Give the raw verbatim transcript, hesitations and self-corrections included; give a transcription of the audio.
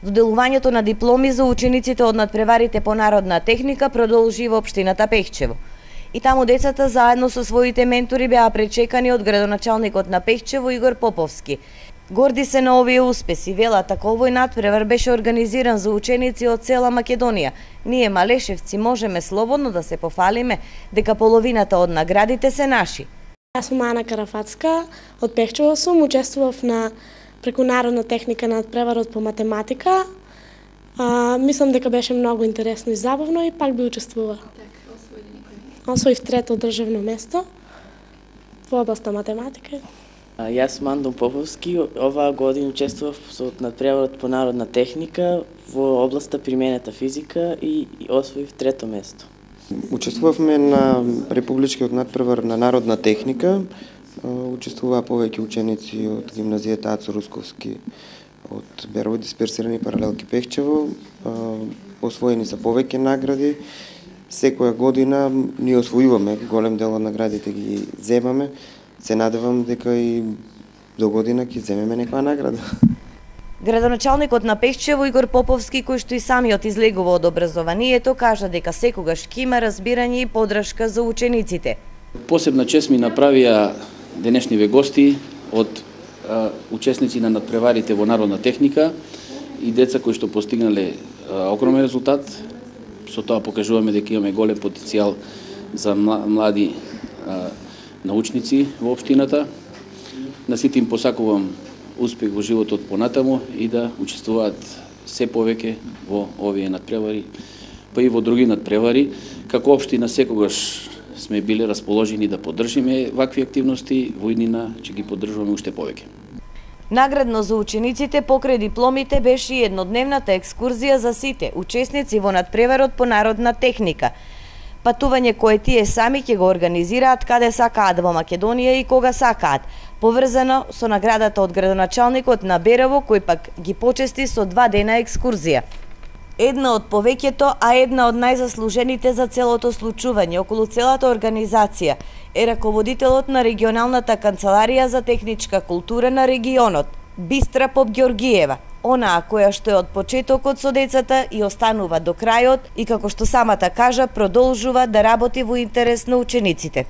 Доделувањето на дипломи за учениците од надпреварите по народна техника продолжи во општината Пехчево. И таму децата заедно со своите ментори беа пречекани од градоначалникот на Пехчево Игор Поповски. Горди се на овие успеси, велат, така овој надпревар беше организиран за ученици од цела Македонија. Ние малешевци можеме слободно да се пофалиме дека половината од наградите се наши. Јас сум Ана Карафацка, од Пехчево сум, учествував на преку народна техника надпреварот по математика. А, мислам дека беше многу интересно и забавно и пак би учествувала. Освоив трето државно место во областа математика. Јас сум Андон Поповски, оваа година учествував со надпреварот по народна техника во областа применета физика и освоив трето место. Учествувавме на републичкиот надпревар на народна техника. Учествуваа повеќе ученици од гимназијата Ацо Русковски од Берово дисперсирани паралелки Пехчево. Освоени се повеќе награди. Секоја година ние освојуваме, голем дел од наградите ги земаме. Се надевам дека и до година ќе земеме некоја награда. Градоначалникот на Пехчево Игор Поповски, кој што и самиот излегува од образованието, кажа дека секогаш ќе има разбирање и поддршка за учениците. Посебна чест ми направија денешниве гости од а, учесници на надпреварите во народна техника и деца кои што постигнале а, огромен резултат. Со тоа покажуваме дека имаме голем потенцијал за млади а, научници во општината. На сите им посакувам успех во животот понатаму и да учествуваат се повеќе во овие надпревари, па и во други надпревари. Како општина секогаш сме биле расположени да поддржиме вакви активности, во иднина ќе ги поддржуваме уште повеќе. Наградно за учениците покрај дипломите беше и еднодневната екскурзија за сите учесници во надпреварот по народна техника. Патување кое тие сами ќе го организираат каде сакаат во Македонија и кога сакаат, поврзано со наградата од градоначалникот на Берово, кој пак ги почести со два дена екскурзија. Една од повеќето, а една од најзаслужените за целото случување околу целата организација е раководителот на регионалната канцеларија за техничка култура на регионот, Бистра Попгеоргиева, онаа која што е од почетокот со децата и останува до крајот и како што самата кажа, продолжува да работи во интерес на учениците.